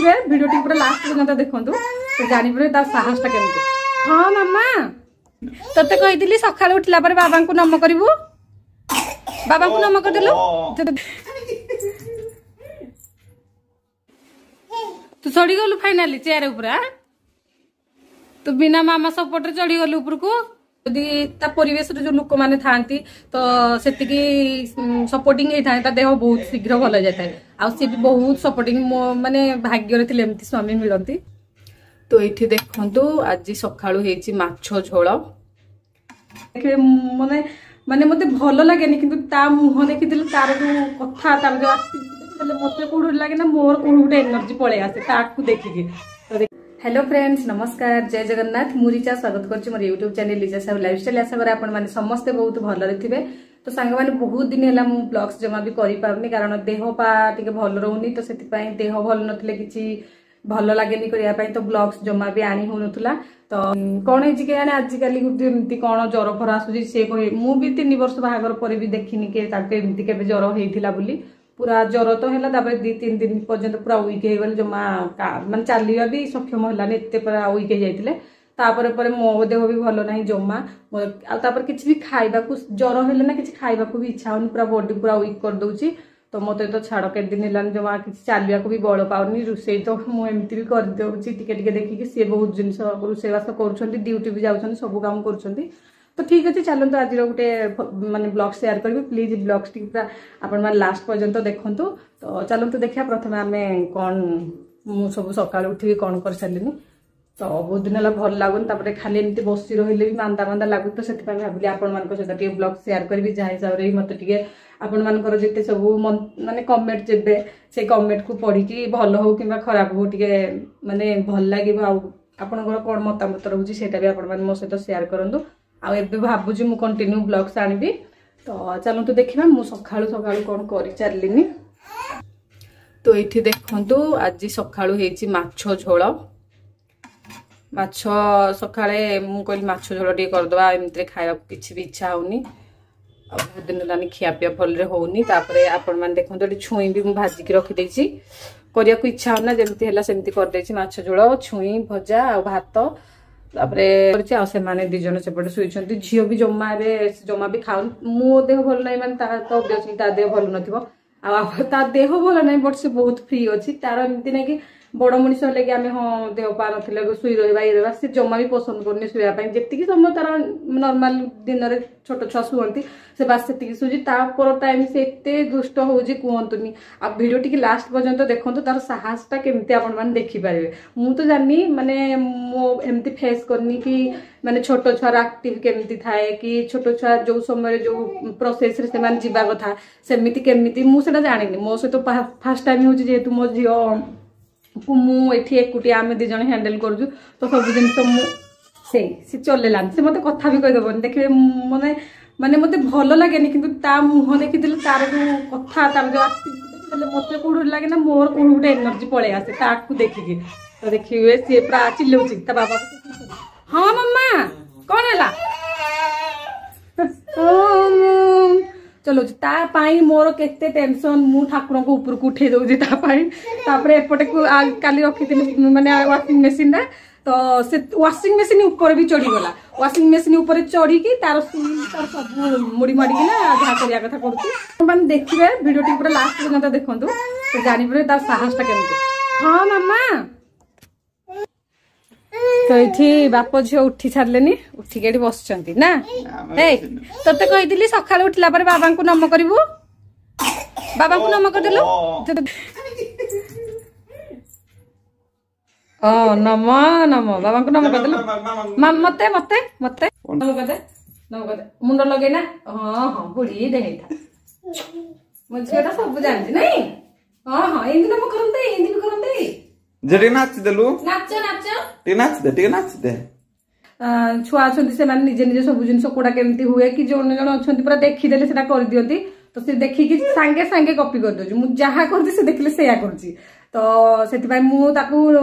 ଦେଖିବେ ଭିଡ଼ିଓଟି ପୁରା ଲାଷ୍ଟ ପର୍ଯ୍ୟନ୍ତ ଦେଖନ୍ତୁ, ତ ଜାଣିପାରିବେ ତାର ସାହସଟା କେମିତି। ହଁ ମାମା, ତତେ କହିଥିଲି ସକାଳୁ ଉଠିଲା ପରେ ବାବାଙ୍କୁ ନମ କରିବୁ, ବାବାଙ୍କୁ ନମ କରିଦେଲୁ। ତୁ ଚଢିଗଲୁ ଫାଇନାଲି ଚେୟାର ଉପରେ, ତୁ ବିନା ମାମା ସପୋର୍ଟରେ ଚଢିଗଲୁ ଉପରକୁ। ଯଦି ତା ପରିବେଶରେ ଯୋଉ ଲୋକମାନେ ଥାଆନ୍ତି ତ ସେତିକି ସପୋର୍ଟିଂ ହେଇଥାଏ, ତା ଦେହ ବହୁତ ଶୀଘ୍ର ଭଲ ହେଇଯାଇଥାଏ। ଆଉ ସିଏ ବି ବହୁତ ସପୋର୍ଟିଂ, ମୋ ମାନେ ଭାଗ୍ୟରେ ଥିଲେ ଏମିତି ସ୍ୱାମୀ ମିଳନ୍ତି। ତ ଏଇଠି ଦେଖନ୍ତୁ ଆଜି ସକାଳୁ ହେଇଛି ମାଛ ଝୋଳ। ଦେଖିବେ ମାନେ ମାନେ ମତେ ଭଲ ଲାଗେନି, କିନ୍ତୁ ତା ମୁହଁ ଦେଖିଥିଲେ ତାର ଯୋଉ କଥା, ତାର ଯୋଉ ଆକ୍ଟିଭିଟି, ମତେ କୋଉଠି ଲାଗେ ନା ମୋର କୋଉଠି ଗୋଟେ ଏନର୍ଜି ପଳେଇ ଆସେ ତାକୁ ଦେଖିକି। ହ୍ୟାଲୋ ଫ୍ରେଣ୍ଡସ୍, ନମସ୍କାର, ଜୟ ଜଗନ୍ନାଥ। ମୁଁ ରିଚା, ସ୍ୱାଗତ କରୁଛି ମୋର YouTube channel Richa Sahu lifestyle. ଆଶା କରେ ଆପଣମାନେ ସମସ୍ତେ ବହୁତ ଭଲରେ ଥିବେ। ତ ସାଙ୍ଗମାନେ, ବହୁତ ଦିନ ହେଲା ମୁଁ ବ୍ଲଗ୍ସ ଜମା ବି କରିପାରୁନି, କାରଣ ଦେହ ପା ଟିକେ ଭଲ ରହୁନି। ତ ସେଥିପାଇଁ ଦେହ ଭଲ ନଥିଲେ କିଛି ଭଲ ଲାଗେନି କରିବା ପାଇଁ, ତ ବ୍ଲଗ୍ସ ଜମା ବି ଆଣି ହଉନଥିଲା। ତ କଣ ହେଇଛି କେଜାଣି, ଆଜିକାଲି ଏମିତି କଣ ଜର ଫର ଆସୁଛି ସେ କହି, ମୁଁ ବି 3 ବର୍ଷ ବାହାଘର ପରେ ବି ଦେଖିନି କି ତାଙ୍କୁ ଏମିତି କେବେ ଜର ହେଇଥିଲା ବୋଲି। ପୁରା ଜର ତ ହେଲା, ତାପରେ 2-3 ଦିନ ପର୍ଯ୍ୟନ୍ତ ପୁରା ୱିକ୍ ହେଇଗଲେ, ଜମା ମାନେ ଚାଲିବା ବି ସକ୍ଷମ ହେଲାନି, ଏତେ ପୁରା ୱିକ୍ ହେଇଯାଇଥିଲେ। ତାପରେ ପରେ ମୋ ଦେହ ବି ଭଲ ନାହିଁ ଜମା, ଆଉ ତାପରେ କିଛି ବି ଖାଇବାକୁ, ଜର ହେଲେ ନା କିଛି ଖାଇବାକୁ ବି ଇଚ୍ଛା ହଉନି, ପୁରା ବଡି ପୁରା ୱିକ୍ କରିଦଉଛି। ତ ମତେ ତ ଛାଡ଼ କେତେ ଦିନ ହେଲାଣି ଜମା କିଛି ଚାଲିବାକୁ ବି ବଳ ପାଉନି। ରୋଷେଇ ତ ମୁଁ ଏମିତି ବି କରିଦେଉଛି ଟିକେ ଟିକେ ଦେଖିକି, ସିଏ ବହୁତ ଜିନିଷ ରୋଷେଇବାସ କରୁଛନ୍ତି, ଡ୍ୟୁଟି ବି ଯାଉଛନ୍ତି, ସବୁ କାମ କରୁଛନ୍ତି। ତ ଠିକ ଅଛି, ଚାଲନ୍ତୁ ଆଜିର ଗୋଟେ ମାନେ ବ୍ଲଗ ସେୟାର କରିବି। ପ୍ଲିଜ ବ୍ଲଗ୍ସ ଟିକେ ପୁରା ଆପଣମାନେ ଲାଷ୍ଟ ପର୍ଯ୍ୟନ୍ତ ଦେଖନ୍ତୁ। ତ ଚାଲନ୍ତୁ ଦେଖିବା ପ୍ରଥମେ ଆମେ କ'ଣ, ମୁଁ ସବୁ ସକାଳୁ ଉଠିକି କ'ଣ କରିସାରିଲିନି। ତ ବହୁତ ଦିନ ହେଲା ଭଲ ଲାଗୁନି, ତାପରେ ଖାଲି ଏମିତି ବସି ରହିଲେ ବି ମାନ୍ଦା ମାନ୍ଦା ଲାଗୁଛି। ତ ସେଥିପାଇଁ ଭାବିଲି ଆପଣମାନଙ୍କ ସହିତ ଟିକେ ବ୍ଲଗ ସେୟାର କରିବି, ଯାହା ହିସାବରେ ବି ମତେ ଟିକେ ଆପଣମାନଙ୍କର ଯେତେ ସବୁ ମାନେ କମେଣ୍ଟ ଦେବେ, ସେଇ କମେଣ୍ଟକୁ ପଢିକି ଭଲ ହଉ କିମ୍ବା ଖରାପ ହଉ ଟିକେ ମାନେ ଭଲ ଲାଗିବ। ଆଉ ଆପଣଙ୍କର କ'ଣ ମତାମତ ରହୁଛି ସେଇଟା ବି ଆପଣମାନେ ମୋ ସହିତ ସେୟାର କରନ୍ତୁ। ଆଉ ଏବେ ଭାବୁଛି ମୁଁ କଣ୍ଟିନ୍ୟୁ ବ୍ଲଗ୍ସ ଆଣିବି। ତ ଚାଲନ୍ତୁ ଦେଖିବା ମୁଁ ସକାଳୁ ସକାଳୁ କ'ଣ କରିଚାଲିନି। ତ ଏଇଠି ଦେଖନ୍ତୁ ଆଜି ସକାଳୁ ହେଇଛି ମାଛ ଝୋଳ। ମାଛ ସକାଳେ ମୁଁ କହିଲି ମାଛ ଝୋଳ ଟିକେ କରିଦେବା, ଏମିତିରେ ଖାଇବାକୁ କିଛି ବି ଇଚ୍ଛା ହଉନି, ଆଉ ବହୁତ ଦିନ ହେଲାଣି ଖିଆପିଆ ଭଲରେ ହଉନି। ତାପରେ ଆପଣମାନେ ଦେଖନ୍ତୁ ଏଠି ଛୁଇଁ ବି ମୁଁ ଭାଜିକି ରଖିଦେଇଛି, କରିବାକୁ ଇଚ୍ଛା ହଉନା, ଯେମିତି ହେଲା ସେମିତି କରିଦେଇଛି। ମାଛ ଝୋଳ, ଛୁଇଁ ଭଜା ଆଉ ଭାତ ତାପରେ କରିଛି। ଆଉ ସେମାନେ 2 ଜଣ ସେପଟେ ଶୋଇଛନ୍ତି। ଝିଅ ବି ଜମା ଏବେ ଜମା ବି ଖାଉନି। ମୋ ଦେହ ଭଲ ନାହିଁ ମାନେ ତାର ତ ଅବଭିୟସଲି ତା ଦେହ ଭଲ ନଥିବ, ଆଉ ତା ଦେହ ଭଲ ନାହିଁ ବଟ୍ ସେ ବହୁତ ଫ୍ରି ଅଛି। ତାର ଏମିତି ନାଇଁ କି ବଡ ମଣିଷ ହେଲେ କି ଆମେ ହଁ ଦେହ ପା ନଥିଲେ ଶୋଇ ରହିବା ଇଏ ରହିବା, ସେ ଜମା ବି ପସନ୍ଦ କରୁନି ଶୋଇବା ପାଇଁ। ଯେତିକି ସମୟ ତାର ନର୍ମାଲ ଦିନରେ ଛୋଟ ଛୁଆ ଶୁଅନ୍ତି ସେ ବାସ୍ ସେତିକି ଶୋଉଛି। ତାପର ଟାଇମ ସେ ଏତେ ଦୁଷ୍ଟ ହଉଛି କୁହନ୍ତୁନି। ଆଉ ଭିଡ଼ିଓ ଟିକେ ଲାଷ୍ଟ ପର୍ଯ୍ୟନ୍ତ ଦେଖନ୍ତୁ, ତାର ସାହସଟା କେମିତି ଆପଣମାନେ ଦେଖିପାରିବେ। ମୁଁ ତ ଜାଣିନି, ମାନେ ମୁଁ ଏମିତି ଫେସ୍ କରିନି କି ମାନେ ଛୋଟ ଛୁଆର ଆକ୍ଟିଭ କେମିତି ଥାଏ, କି ଛୋଟ ଛୁଆ ଯୋଉ ସମୟରେ ଯୋଉ ପ୍ରୋସେସରେ ସେମାନେ ଯିବା କଥା ସେମିତି କେମିତି, ମୁଁ ସେଟା ଜାଣିନି। ମୋ ସହିତ ଫାର୍ଷ୍ଟ ଟାଇମ ହଉଛି, ଯେହେତୁ ମୋ ଝିଅ ମୁଁ ଏଠି ଏକୁଟିଆ ଆମେ 2 ଜଣ ହ୍ୟାଣ୍ଡେଲ କରୁଛୁ, ତ ସବୁ ଜିନିଷ ମୁଁ ସେଇ ସେ ଚଲେଇଲାନି, ସେ ମତେ କଥା ବି କହିଦେବନି। ଦେଖିବେ ମାନେ ମାନେ ମତେ ଭଲ ଲାଗେନି, କିନ୍ତୁ ତା ମୁହଁ ଦେଖିଥିଲେ ତାର ଯୋଉ କଥା, ତାର ଯୋଉ ଆକ୍ଟିଭିଟି, ମତେ କୋଉଠି ଲାଗେ ନା ମୋର କୋଉଠି ଗୋଟେ ଏନର୍ଜି ପଳେଇ ଆସେ ତାକୁ ଦେଖିକି। ତ ଦେଖିବେ ସିଏ ପୁରା ଚିଲଉଛି ତା ବାବା। ହଁ ମାମା କଣ ହେଲା, ଚଲଉଛି ତା ପାଇଁ ମୋର କେତେ ଟେନସନ, ମୁଁ ଠାକୁରଙ୍କ ଉପରକୁ ଉଠେଇ ଦଉଛି ତା ପାଇଁ। ତାପରେ ଏପଟେ କାଲି ରଖିଥିଲି ମାନେ ୱାସିଂ ମେସିନ ଟା, ତ ସେ ୱାସିଂ ମେସିନ ଉପରେ ବି ଚଢିଗଲା। ୱାସିଂ ମେସିନ ଉପରେ ଚଢିକି ତାର ତାର ସବୁ ମୁଡି ମାଡିକିନା ଯାହା କରିବା କଥା କରୁଛି। ମାନେ ଦେଖିବେ ଭିଡ଼ିଓଟି ପୁରା ଲାଷ୍ଟ ପର୍ଯ୍ୟନ୍ତ ଦେଖନ୍ତୁ, ତ ଜାଣିପାରିବେ ତାର ସାହସଟା କେମିତି। ହଁ ମାମା, ତ ଏଇଠି ବାପ ଝିଅ ଉଠି ସାରିଲେନି, ଉଠିକି ଏଠି ବସିଛନ୍ତି ନା। ଏଇ ତତେ କହିଥିଲି ସକାଳୁ ଉଠିଲା ପରେ ବାବାଙ୍କୁ ନମ କରିବୁ, ବାବାଙ୍କୁ ନମ କରିଦେଲୁ। ହଁ ନମ ନମ, ବାବାଙ୍କୁ ନମ କରିଦେଲୁ। ମତେ ମତେ ମତେ ନମ କରିଦେ, ନମ କରିଦେ, ମୁଣ୍ଡ ଲଗେଇନା। ହଁ ହଁ ବୁଢୀ ହେଇଥା, ମୋ ଝିଅଟା ସବୁ ଜାଣିଛି ନାଇଁ। ହଁ ହଁ ଏମିତି ନମ କରନ୍ତି, ଏମିତି ବି କରନ୍ତି। ଟିକେ ନାଚି ଦେଲୁ, ନାଚ ନାଚ, ଟିକେ ନାଚି ଦେ, ଟିକେ ନାଚି ଦେ। ଛୁଆ ଅଛନ୍ତି ସେମାନେ ନିଜେ ନିଜେ ସବୁ ଜିନିଷ କୋଉଟା କେମିତି ହୁଏ, କି ଜଣେ ଜଣେ ଅଛନ୍ତି ପୁରା ଦେଖିଦେଲେ ସେଟା କରିଦିଅନ୍ତି। ତ ସେ ଦେଖିକି ସାଙ୍ଗେ ସାଙ୍ଗେ କପି କରିଦଉଛି, ମୁଁ ଯାହା କରୁଛି ସେ ଦେଖିଲେ ସେଇଆ କରୁଛି। ତ ସେଥିପାଇଁ ମୁଁ ତାକୁ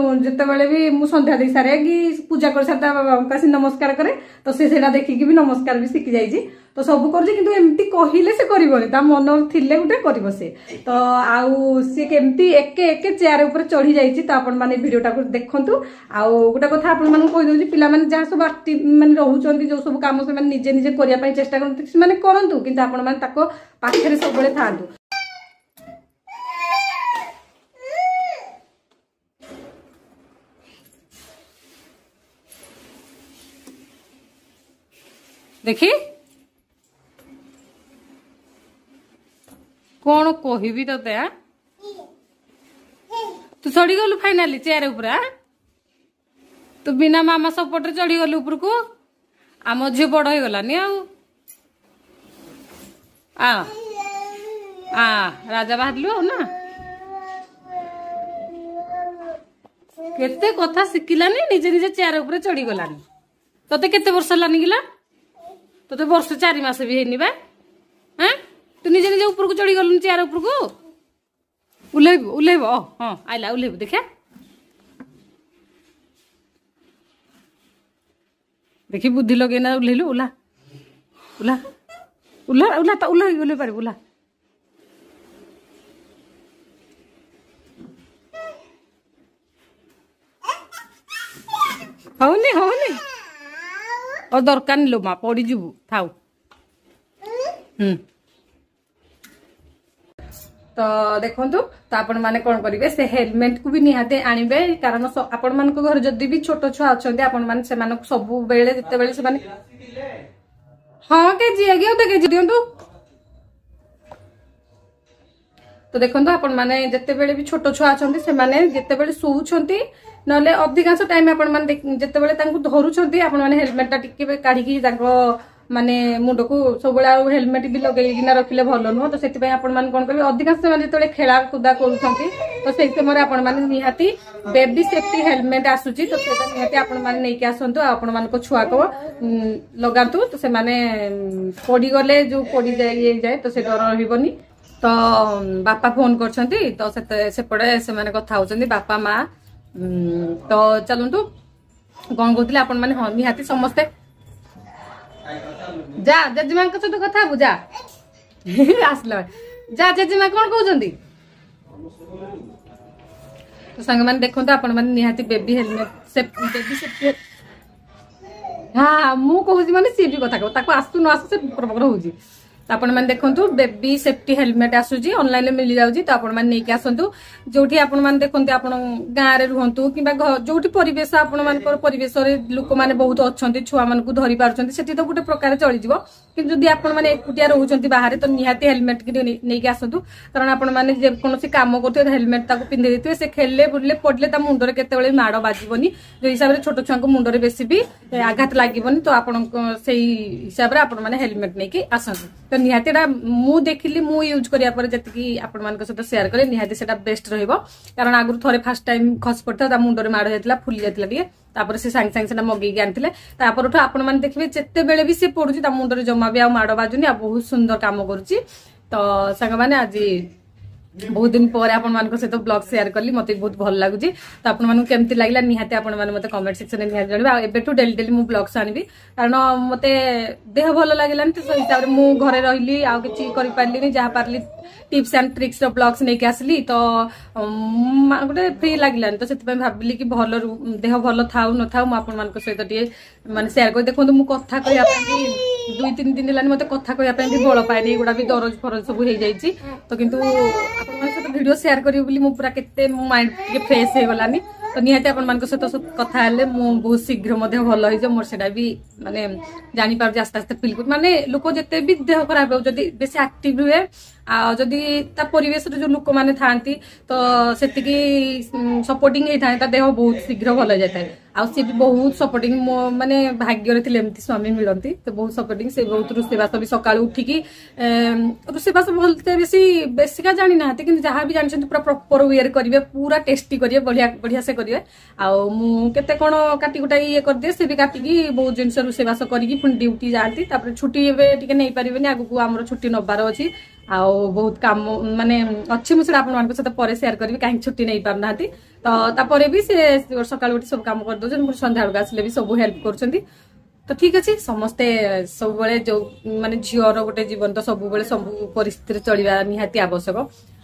ଯେତେବେଳେ ବି ମୁଁ ସନ୍ଧ୍ୟା ଦେଇ ସାରେ କି ପୂଜା କରିସାରେ ତା ବାବାଙ୍କୁ ଆସି ନମସ୍କାର କରେ, ତ ସେ ସେଇଟା ଦେଖିକି ବି ନମସ୍କାର ବି ଶିଖି ଯାଇଛି। ତ ସବୁ କରୁଛି, କିନ୍ତୁ ଏମିତି କହିଲେ ସେ କରିବନି, ତା ମନ ଥିଲେ ଗୋଟେ କରିବ ସେ। ତ ଆଉ ସିଏ କେମିତି ଏକେ ଏକେ ଚେୟାର ଉପରେ ଚଢି ଯାଇଛି, ତ ଆପଣମାନେ ଭିଡିଓଟାକୁ ଦେଖନ୍ତୁ। ଆଉ ଗୋଟେ କଥା ଆପଣମାନଙ୍କୁ କହିଦଉଛି, ପିଲାମାନେ ଯାହା ସବୁ ଆକ୍ଟିଭ ମାନେ ରହୁଛନ୍ତି, ଯୋଉ ସବୁ କାମ ସେମାନେ ନିଜେ ନିଜେ କରିବା ପାଇଁ ଚେଷ୍ଟା କରନ୍ତି ସେମାନେ କରନ୍ତୁ, କିନ୍ତୁ ଆପଣମାନେ ତାଙ୍କ ପାଖରେ ସବୁବେଳେ ଥାଆନ୍ତୁ। ଦେଖି କଣ କହିବି ତତେ? ଆ ତୁ ଚଢିଗଲୁ ଫାଇନାଲି ଚେୟାର ଉପରେ। ଆ ତୁ ବିନା ମାମା ସପୋର୍ଟରେ ଚଢିଗଲୁ ଉପରକୁ। ଆମ ଝିଅ ବଡ ହେଇଗଲାନି ଆଉ। ଆ ଆ ରାଜା ବାହାରିଲୁ ଆଉ ନା, କେତେ କଥା ଶିଖିଲାନି, ନିଜେ ନିଜେ ଚେୟାର ଉପରେ ଚଢିଗଲାନି। ତତେ କେତେ ବର୍ଷ ହେଲାନି କିଲା? ତତେ ବର୍ଷ 4 ମାସ ବି ହେଇନି ବା। ହଁ, ତୁ ନିଜେ ନିଜେ ଉପରକୁ ଚଢିଗଲୁନି ଚେୟାର ଉପରକୁ। ଓହ୍ଲେଇବୁ, ଓହ୍ଲେଇବ। ହଁ ଆଇଲା, ଓହ୍ଲେଇବୁ। ଦେଖିଆ ଦେଖି ବୁଦ୍ଧି ଲଗେଇନା ଓହ୍ଲେଇଲୁ। ଓହ୍ଲା ଓହ୍ଲା ଓହ୍ଲା ଓହ୍ଲା, ତ ଓହ୍ଲେଇ ଓହ୍ଲେଇ ପାରିବୁ। ଓହ୍ଲା। ହଉନି ହଉନି, ଆଉ ଦରକାର ନି ଲୋ ମା, ପଡିଯିବୁ, ଥାଉ। ହୁଁ ତ ଦେଖନ୍ତୁ, ତ ଆପଣ ମାନେ କଣ କରିବେ, ସେ ହେଲମେଟ କୁ ବି ନିହାତି ଆଣିବେ, କାରଣ ଆପଣମାନଙ୍କ ଘରେ ଯଦି ବି ଛୋଟ ଛୁଆ ଅଛନ୍ତି, ଆପଣ ମାନେ ସେମାନଙ୍କୁ ସବୁବେଳେ ଯେତେବେଳେ ସେମାନେ ହଁ କେଜି ଆଜ୍ଞା ଅଧ କେଜି ଦିଅନ୍ତୁ। ତ ଦେଖନ୍ତୁ, ଆପଣ ମାନେ ଯେତେବେଳେ ବି ଛୋଟ ଛୁଆ ଅଛନ୍ତି, ସେମାନେ ଯେତେବେଳେ ଶୋଉଛନ୍ତି ନହେଲେ ଅଧିକାଂଶ ଟାଇମ ଆପଣ ମାନେ ଯେତେବେଳେ ତାଙ୍କୁ ଧରୁଛନ୍ତି, ଆପଣ ମାନେ ହେଲମେଟ ଟା ଟିକେ କାଢିକି ତାଙ୍କ ମାନେ ମୁଣ୍ଡକୁ ସବୁବେଳେ ଆଉ ହେଲମେଟ ବି ଲଗେଇକିନା ରଖିଲେ ଭଲ ନୁହଁ। ତ ସେଥିପାଇଁ ଆପଣ ମାନେ କଣ କରିବେ, ଅଧିକାଂଶ ସେମାନେ ଯେତେବେଳେ ଖେଳା କୁଦା କରୁଛନ୍ତି, ତ ସେଇ ସମୟରେ ଆପଣ ମାନେ ନିହାତି ବେବି ସେଫ୍ଟି ହେଲମେଟ ଆସୁଛି, ତ ସେଇଟା ନିହାତି ଆପଣ ମାନେ ନେଇକି ଆସନ୍ତୁ ଆଉ ଆପଣ ମାନଙ୍କ ଛୁଆକୁ ଲଗାନ୍ତୁ। ତ ସେମାନେ ପଡିଗଲେ ଯୋଉ ପଡିଯାଏ ଇଏ ଯାଏ, ତ ସେ ଡର ରହିବନି। ତ ବାପା ଫୋନ କରିଛନ୍ତି, ତ ସେପଟେ ସେମାନେ କଥା ହଉଛନ୍ତି ବାପା ମା। ତ ଚାଲନ୍ତୁ, କଣ କହୁଥିଲେ ଆପଣ ମାନେ? ହଁ, ନିହାତି ସମସ୍ତେ ଯା ଜେଜେମାଙ୍କ ସହିତ କଥା ହବୁ, ଯା ଆସିଲା, ଯା। ଜେଜେମା କଣ କହୁଛନ୍ତି? ତ ସାଙ୍ଗମାନେ ଦେଖନ୍ତୁ, ଆପଣ ମାନେ ନିହାତି ବେବି ହେଲମେଟ, ବେବି ସେଫ୍ଟି। ହଁ, ମୁଁ କହୁଛି ମାନେ ସିଏ ବି କଥା କହୁ, ତାକୁ ଆସୁ ନ ଆସୁ ସେ ପକର ହଉଛି। ତ ଆପଣ ମାନେ ଦେଖନ୍ତୁ, ବେବି ସେଫ୍ଟି ହେଲମେଟ ଆସୁଛି, ଅନଲାଇନରେ ମିଳିଯାଉଛି, ତ ଆପଣ ମାନେ ନେଇକି ଆସନ୍ତୁ। ଯୋଉଠି ଆପଣ ମାନେ ଦେଖନ୍ତୁ, ଆପଣ ଗାଁରେ ରୁହନ୍ତୁ କିମ୍ବା ଯୋଉଠି ପରିବେଶ ଆପଣ ମାନଙ୍କର ପରିବେଶରେ ଲୋକମାନେ ବହୁତ ଅଛନ୍ତି, ଛୁଆମାନଙ୍କୁ ଧରି ପାରୁଛନ୍ତି, ସେଠି ତ ଗୋଟେ ପ୍ରକାର ଚଳିଯିବ। କିନ୍ତୁ ଯଦି ଆପଣ ମାନେ ଏକୁଟିଆ ରହୁଛନ୍ତି ବାହାରେ, ତ ନିହାତି ହେଲମେଟ ନେଇକି ଆସନ୍ତୁ, କାରଣ ଆପଣ ମାନେ ଯେକୌଣସି କାମ କରୁଥିବେ, ହେଲମେଟ ତାକୁ ପିନ୍ଧି ଦେଇଥିବେ, ସେ ଖେଳିଲେ ବୁଲିଲେ ପଡିଲେ ତା ମୁଣ୍ଡରେ କେତେବେଳେ ମାଡ ବାଜିବନି। ଯୋଉ ହିସାବରେ ଛୋଟ ଛୁଆଙ୍କ ମୁଣ୍ଡରେ ବେଶୀ ବି ଆଘାତ ଲାଗିବନି, ତ ଆପଣଙ୍କ ସେଇ ହିସାବରେ ଆପଣ ମାନେ ହେଲମେଟ ନେଇକି ଆସନ୍ତୁ। ତ ନିହାତି ଏଟା ମୁଁ ଦେଖିଲି, ମୁଁ ୟୁଜ୍ କରିବା ପରେ ଯେତିକି ଆପଣମାନଙ୍କ ସହିତ ସେୟାର କଲେ, ନିହାତି ସେଟା ବେଷ୍ଟ ରହିବ। କାରଣ ଆଗରୁ ଥରେ ଫାର୍ଷ୍ଟ ଟାଇମ ଖସି ପଡିଥିଲା, ତା ମୁଣ୍ଡରେ ମାଡ ଯାଇଥିଲା, ଫୁଲି ଯାଇଥିଲା ଟିକେ। ତାପରେ ସେ ସାଙ୍ଗେ ସାଙ୍ଗେ ସେଟା ମଗେଇକି ଆଣିଥିଲେ। ତାପରଠୁ ଆପଣ ମାନେ ଦେଖିବେ, ଯେତେବେଳେ ବି ସେ ପଡୁଛି ତା ମୁଣ୍ଡରେ ଜମା ବି ଆଉ ମାଡ ବାଜୁନି, ଆଉ ବହୁତ ସୁନ୍ଦର କାମ କରୁଛି। ତ ସାଙ୍ଗମାନେ, ଆଜି ବହୁତ ଦିନ ପରେ ଆପଣମାନଙ୍କ ସହିତ ବ୍ଲଗ ସେୟାର କଲି, ମତେ ବହୁତ ଭଲ ଲାଗୁଛି। ତ ଆପଣମାନଙ୍କୁ କେମିତି ଲାଗିଲା ନିହାତି ଆପଣମାନେ ମତେ କମେଣ୍ଟ ସେକ୍ସନରେ ନିହାତି ଜଣାଇବେ। ଆଉ ଏବେଠୁ ଡେଲି ଡେଲି ମୁଁ ବ୍ଲଗ୍ସ ଆଣିବି, କାରଣ ମତେ ଦେହ ଭଲ ଲାଗିଲାନି, ତ ସେଇ ହିସାବରେ ମୁଁ ଘରେ ରହିଲି, ଆଉ କିଛି କରିପାରିଲିନି। ଯାହା ପାରିଲି ଟିପ୍ସ ଆଣ୍ଡ ଟ୍ରିକ୍ସ ର ବ୍ଲଗ୍ସ ନେଇକି ଆସିଲି। ତ ଗୋଟେ ଫ୍ରି ଲାଗିଲାନି, ତ ସେଥିପାଇଁ ଭାବିଲି କି ଭଲ ଦେହ ଭଲ ଥାଉ ନଥାଉ ମୁଁ ଆପଣମାନଙ୍କ ସହିତ ଟିକେ ମାନେ ସେୟାର କରି। ଦେଖନ୍ତୁ, ମୁଁ କଥା କହିବା ପାଇଁ ବି 2-3 ଦିନ ହେଲାନି, ମତେ କଥା କହିବା ପାଇଁ ବି ବଳ ପାଏନି, ଏଗୁଡ଼ା ବି ଦରଜ ଫରଜ ସବୁ ହେଇଯାଇଛି। ତ କିନ୍ତୁ ଆପଣମାନଙ୍କ ସହିତ ଭିଡିଓ ସେୟାର କରିବି ବୋଲି ମୁଁ ପୁରା କେତେ ମୋ ମାଇଣ୍ଡ ଟିକେ ଫ୍ରେଶ ହେଇଗଲାନି। ତ ନିହାତି ଆପଣମାନଙ୍କ ସହିତ କଥା ହେଲେ ମୁଁ ବହୁତ ଶୀଘ୍ର ମଧ୍ୟ ଭଲ ହେଇଯିବ ମୋର, ସେଇଟା ବି ମାନେ ଜାଣିପାରୁଛି ଆସ୍ତେ ଆସ୍ତେ ଫିଲ୍ କରୁଛି। ମାନେ ଲୋକ ଯେତେ ବି ଦେହ ଖରାପ ହଉ, ଯଦି ବେଶୀ ଆକ୍ଟିଭ ରୁହେ ଆଉ ଯଦି ତା ପରିବେଶରେ ଯୋଉ ଲୋକମାନେ ଥାଆନ୍ତି, ତ ସେତିକି ସପୋର୍ଟିଂ ହେଇଥାଏ, ତା ଦେହ ବହୁତ ଶୀଘ୍ର ଭଲ ହେଇଯାଇଥାଏ। ଆଉ ସିଏ ବି ବହୁତ ସପୋର୍ଟିଂ। ମୋ ମାନେ ଭାଗ୍ୟରେ ଥିଲେ ଏମିତି ସ୍ୱାମୀ ମିଳନ୍ତି। ତ ବହୁତ ସପୋର୍ଟିଂ ସେ, ବହୁତ ରୋଷେଇବାସ ବି ସକାଳୁ ଉଠିକି ରୋଷେଇବାସ ଭଲତେ ବେଶୀ ବେଶିକା ଜାଣିନାହାନ୍ତି, କିନ୍ତୁ ଯାହା ବି ଜାଣିଛନ୍ତି ପୁରା ପ୍ରପର ୱେରେ କରିବେ, ପୁରା ଟେଷ୍ଟି କରିବେ, ବଢିଆ ବଢିଆ ସେ କରିବେ। ଆଉ ମୁଁ କେତେ କଣ କାଟି କୁଟାଇ ଇଏ କରିଦିଏ, ସେ ବି କାଟିକି ବହୁତ ଜିନିଷ ରୋଷେଇବାସ କରିକି ପୁଣି ଡ୍ୟୁଟି ଯାଆନ୍ତି। ତାପରେ ଛୁଟି ଏବେ ଟିକେ ନେଇପାରିବେନି, ଆଗକୁ ଆମର ଛୁଟି ନବାର ଅଛି। ଆଉ ବହୁତ କାମ ମାନେ ଅଛି, ମୁଁ ସେଟା ଆପଣମାନଙ୍କ ସହିତ ପରେ ସେୟାର କରିବି କାହିଁକି ଛୁଟି ନେଇ ପାରୁନାହାନ୍ତି। ତ ତାପରେ ବି ସେ ସକାଳୁ ଉଠି ସବୁ କାମ କରିଦଉଛନ୍ତି, ପୁଣି ସନ୍ଧ୍ୟାବେଳକୁ ଆସିଲେ ବି ସବୁ ହେଲ୍ପ କରୁଛନ୍ତି। ତ ଠିକ ଅଛି, ସମସ୍ତେ ସବୁବେଳେ ଯୋଉ ମାନେ ଝିଅର ଗୋଟେ ଜୀବନ ତ ସବୁବେଳେ ସବୁ ପରିସ୍ଥିତିରେ ଚଳିବା ନିହାତି ଆବଶ୍ୟକ।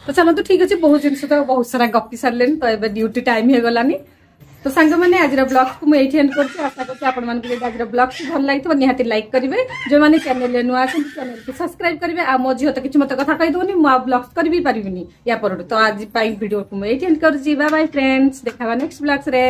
ତ ଚାଲନ୍ତୁ, ଠିକ ଅଛି, ବହୁତ ଜିନିଷ ତ ବହୁତ ସାରା ଗପି ସାରିଲେଣି, ତ ଏବେ ଡ୍ୟୁଟି ଟାଇମ ହେଇଗଲାନି। ତ ସାଙ୍ଗମାନେ, ଆଜିର ବ୍ଲଗକୁ ମୁଁ ଏଇଠି ଏଣ୍ଡ କରୁଛି। ଆଶା କରୁଛି ଆପଣମାନଙ୍କୁ ଯଦି ଆଜିର ବ୍ଲଗଟି ଭଲ ଲାଗିଥିବ, ନିହାତି ଲାଇକ୍ କରିବେ। ଯେଉଁମାନେ ଚ୍ୟାନେଲରେ ନୂଆ ଅଛନ୍ତି, ଚ୍ୟାନେଲକୁ ସବସ୍କ୍ରାଇବ କରିବେ। ଆଉ ମୋ ଝିଅ ତ କିଛି ମତେ କଥା କହିଦେଉନି, ମୁଁ ଆଉ ବ୍ଲଗ୍ସ କରିବି ପାରିବିନି ୟା ପରଠୁ। ତ ଆଜି ପାଇଁ ଭିଡିଓକୁ ମୁଁ ଏଇଠି ଏଣ୍ଡ କରୁଛି। ବାଇ ବାଇ ଫ୍ରେଣ୍ଡସ୍, ଦେଖାବା ନେକ୍ସଟ ବ୍ଲଗ୍ସରେ।